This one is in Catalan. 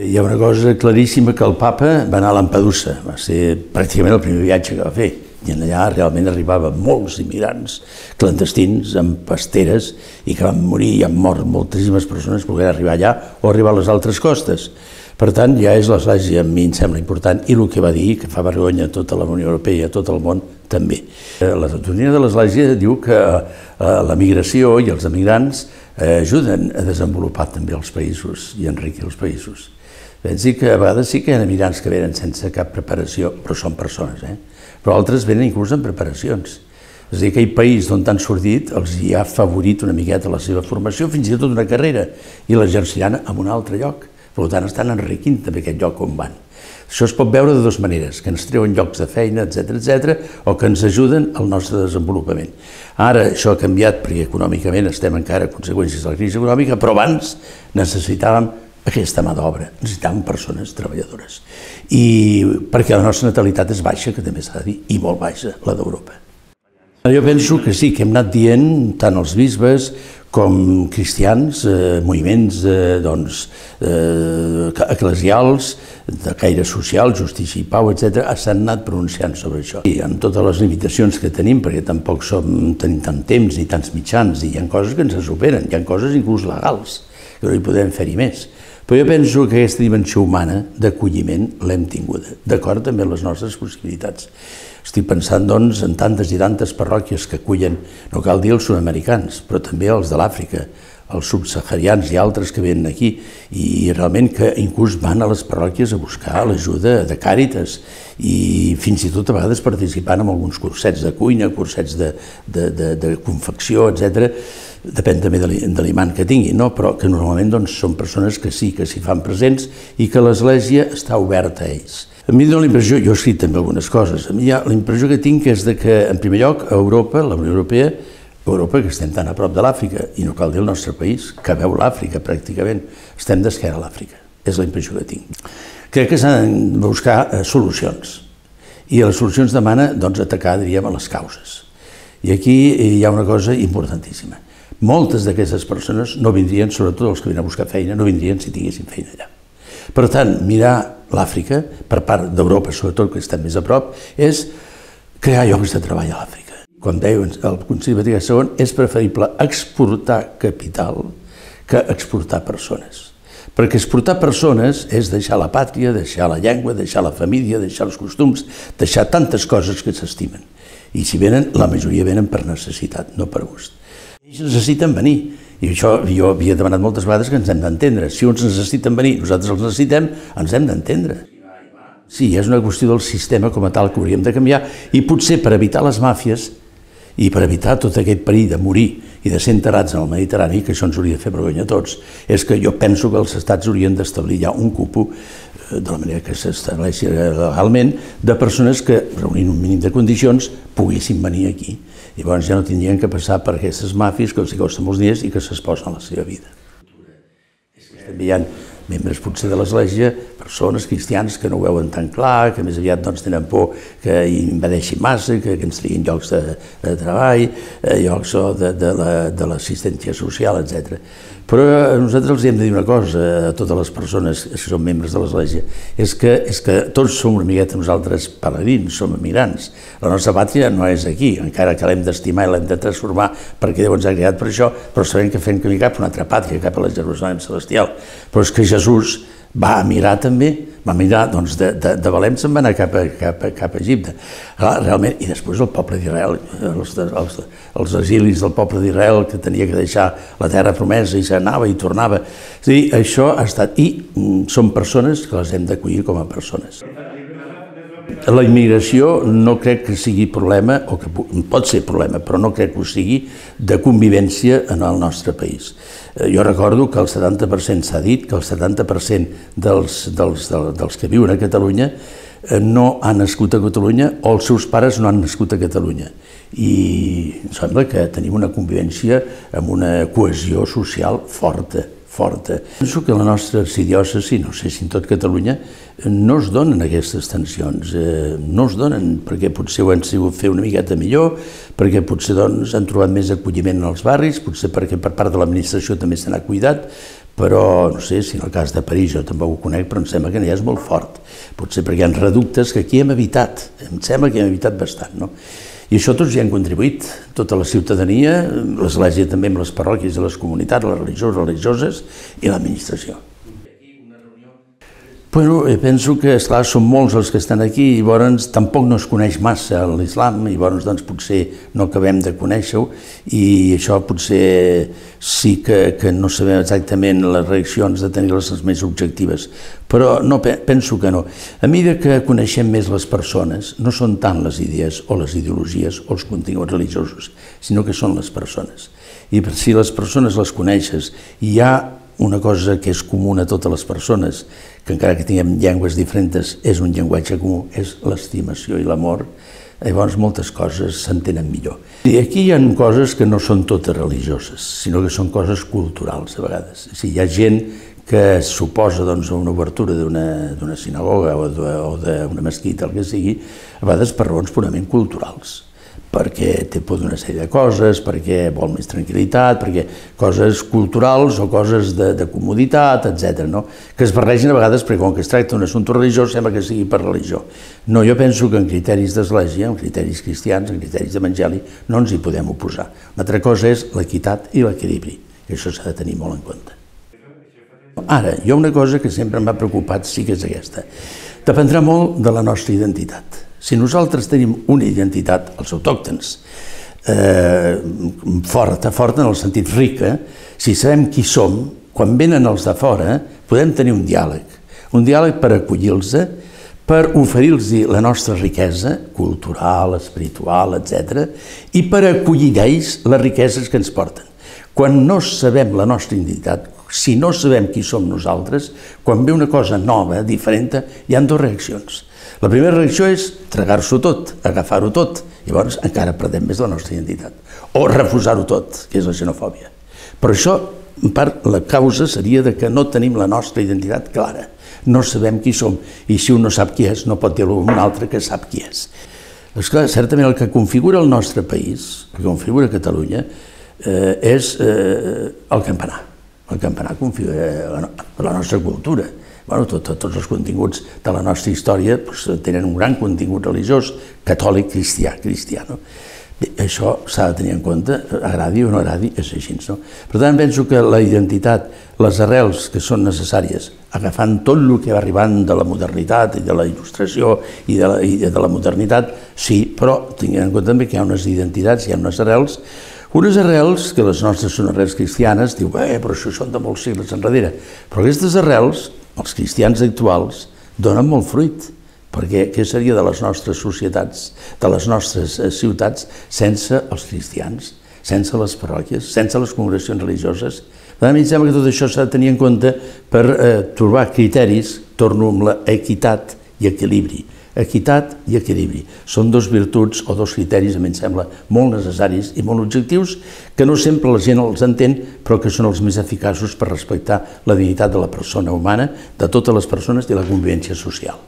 Hi ha una cosa claríssima, que el papa va anar a Lampedusa, va ser pràcticament el primer viatge que va fer, i allà realment arribaven molts immigrants clandestins amb pasteres i que van morir i han mort moltíssimes persones per poder arribar allà o arribar a les altres costes. Per tant, ja és l'Església, a mi em sembla important, i el que va dir, que fa vergonya a tota la Unió Europea i a tot el món, també. La doctrina de l'Església diu que la migració i els emigrants ajuden a desenvolupar també els països i a enriquir els països. Pensi que a vegades sí que hi ha emigrants que venen sense cap preparació, però són persones, però altres venen inclús amb preparacions. És a dir, aquell país d'on han sortit els hi ha favorit una miqueta la seva formació, fins i tot una carrera, i l'exerciran en un altre lloc. Per tant, estan enriquint també aquest lloc on van. Això es pot veure de dues maneres, que ens treuen llocs de feina, etc., o que ens ajuden al nostre desenvolupament. Ara això ha canviat perquè econòmicament estem encara a conseqüències de la crisi econòmica, però abans necessitàvem aquesta mà d'obra, necessitàvem persones treballadores. I perquè la nostra natalitat és baixa, que també s'ha de dir, i molt baixa, la d'Europa. Jo penso que sí, que hem anat dient, tant els bisbes com cristians, moviments eclesials, de caire social, justícia i pau, etc., s'han anat pronunciant sobre això. I amb totes les limitacions que tenim, perquè tampoc tenim tant temps ni tants mitjans, i hi ha coses que ens superen, hi ha coses inclús legals, que no hi podem fer-hi més. Però jo penso que aquesta dimensió humana d'acolliment l'hem tinguda, d'acord també amb les nostres possibilitats. Estic pensant, doncs, en tantes i tantes parròquies que acullen, no cal dir els sud-americans, però també els de l'Àfrica, els subsaharians i altres que venen aquí, i realment que inclús van a les parròquies a buscar l'ajuda de Càritas i fins i tot a vegades participant en alguns cursets de cuina, cursets de confecció, etc. Depèn també de l'imant que tinguin, però que normalment són persones que sí, que s'hi fan presents i que l'Església està oberta a ells. A mi dóna la impressió, jo he escrit també algunes coses, a mi la impressió que tinc és que, en primer lloc, Europa, la Unió Europea, Europa, que estem tan a prop de l'Àfrica, i no cal dir el nostre país, que veu l'Àfrica pràcticament, estem d'esquena a l'Àfrica, és la impressió que tinc. Crec que s'han de buscar solucions, i les solucions demana atacar, diríem, a les causes. I aquí hi ha una cosa importantíssima. Moltes d'aquestes persones no vindrien, sobretot els que venen a buscar feina, no vindrien si tinguessin feina allà. Per tant, mirar l'Àfrica, per part d'Europa, sobretot, que estem més a prop, és crear llocs de treball a l'Àfrica. Com deia el Concili Vaticà II, és preferible exportar capital que exportar persones. Perquè exportar persones és deixar la pàtria, deixar la llengua, deixar la família, deixar els costums, deixar tantes coses que s'estimen. I si venen, la majoria venen per necessitat, no per gust. Ells necessiten venir. I això jo havia demanat moltes vegades que ens hem d'entendre. Si uns necessiten venir, nosaltres els necessitem, ens hem d'entendre. Sí, és una qüestió del sistema com a tal que hauríem de canviar i potser per evitar les màfies i per evitar tot aquest perill de morir i de ser enterrats en el Mediterrani, que això ens hauria de fer vergonya a tots, és que jo penso que els estats haurien d'establir ja un cupo, de la manera que s'estableixi legalment, de persones que, reunint un mínim de condicions, poguessin venir aquí. Llavors ja no tindrien que passar per aquestes màfies que els costen molts diners i que s'exposen a la seva vida. També hi ha membres potser de l'Església, persones cristians que no ho veuen tan clar, que més aviat tenen por que invadeixin massa, que ens triguin llocs de treball, llocs de l'assistència social, etc. Però nosaltres els hem de dir una cosa a totes les persones que són membres de l'Església, és que tots som una miqueta nosaltres pelegrins, som emigrants. La nostra pàtria no és aquí, encara que l'hem d'estimar i l'hem de transformar perquè Déu ens ha creat per això, però sabem que fem camí cap a una altra pàtria, cap a la Jerusalem celestial. Però és que Jesús va emigrar també, va emigrar, doncs de Belém se'n va anar cap a Egipte. Realment, i després el poble d'Israel, els exilis del poble d'Israel que tenia que deixar la terra promesa i s'anava i tornava. És a dir, això ha estat, i són persones que les hem d'acollir com a persones. La immigració no crec que sigui problema, o que pot ser problema, però no crec que ho sigui, de convivència en el nostre país. Jo recordo que el 70%, s'ha dit, que el 70% dels que viuen a Catalunya no han nascut a Catalunya o els seus pares no han nascut a Catalunya. I em sembla que tenim una convivència amb una cohesió social forta. Penso que la nostra arxidiòcesi, no sé si en tot Catalunya, no es donen aquestes tensions, no es donen perquè potser ho han sigut fer una miqueta millor, perquè potser han trobat més acolliment en els barris, potser perquè per part de l'administració també se n'ha cuidat, però no sé si en el cas de París jo tampoc ho conec, però em sembla que ja és molt fort. Potser perquè hi ha reductes que aquí hem evitat, em sembla que hem evitat bastant, no? I això tots hi han contribuït, tota la ciutadania, l'Església també amb les parròquies i les comunitats, les religioses i l'administració. Bueno, penso que, esclar, són molts els que estan aquí i llavors tampoc no es coneix massa l'islam i llavors doncs potser no acabem de conèixer-ho i això potser sí que no sabem exactament les reaccions de tenir-les més objectives, però no, penso que no. A mesura que coneixem més les persones, no són tant les idees o les ideologies o els continguts religiosos, sinó que són les persones. I si les persones les coneixes i hi ha una cosa que és comuna a totes les persones, que encara que tinguem llengües diferents, és un llenguatge comú, és l'estimació i l'amor, llavors moltes coses s'entenen millor. I aquí hi ha coses que no són totes religioses, sinó que són coses culturals, a vegades. Hi ha gent que suposa una obertura d'una sinagoga o d'una mesquita, el que sigui, a vegades per raons purament culturals, perquè té por d'una sèrie de coses, perquè vol més tranquil·litat, perquè coses culturals o coses de comoditat, etc., no? Que es barregen a vegades perquè com que es tracta d'un assumpte religiós sembla que sigui per religió. No, jo penso que en criteris d'església, en criteris cristians, en criteris d'evangeli, no ens hi podem oposar. Una altra cosa és l'equitat i l'equilibri, que això s'ha de tenir molt en compte. Ara, hi ha una cosa que sempre m'ha preocupat, sí que és aquesta. Dependrà molt de la nostra identitat. Si nosaltres tenim una identitat, els autòctons, forta en el sentit rica, si sabem qui som, quan venen els de fora, podem tenir un diàleg per acollir-los, per oferir-los la nostra riquesa cultural, espiritual, etc., i per acollir d'ells les riqueses que ens porten. Quan no sabem la nostra identitat, si no sabem qui som nosaltres, quan ve una cosa nova, diferent, hi ha dues reaccions. La primera reacció és tragar-s'ho tot, agafar-ho tot, llavors encara perdem més la nostra identitat. O refusar-ho tot, que és la xenofòbia. Però això, en part, la causa seria que no tenim la nostra identitat clara. No sabem qui som, i si un no sap qui és, no pot dir-ho a un altre que sap qui és. Esclar, certament el que configura el nostre país, el que configura Catalunya, és el campanar. El campanar configura la nostra cultura. Tots els continguts de la nostra història tenen un gran contingut religiós, catòlic, cristià. Això s'ha de tenir en compte, agradi o no agradi, és així. Per tant, penso que la identitat, les arrels que són necessàries, agafant tot el que va arribant de la modernitat i de la il·lustració i de la modernitat, sí, però tinguem en compte també que hi ha unes identitats, hi ha unes arrels que les nostres són arrels cristianes, diu, però això són de molts segles enrere. Però aquestes arrels, els cristians actuals, donen molt fruit, perquè què seria de les nostres societats, de les nostres ciutats, sense els cristians, sense les parròquies, sense les congregacions religioses? A mi em sembla que tot això s'ha de tenir en compte per trobar criteris, torno amb l'equitat i equilibri. Equitat i equilibri. Són dos virtuts o dos criteris, a mi em sembla, molt necessaris i molt objectius, que no sempre la gent els entén, però que són els més eficaços per respectar la dignitat de la persona humana, de totes les persones i la convivència social.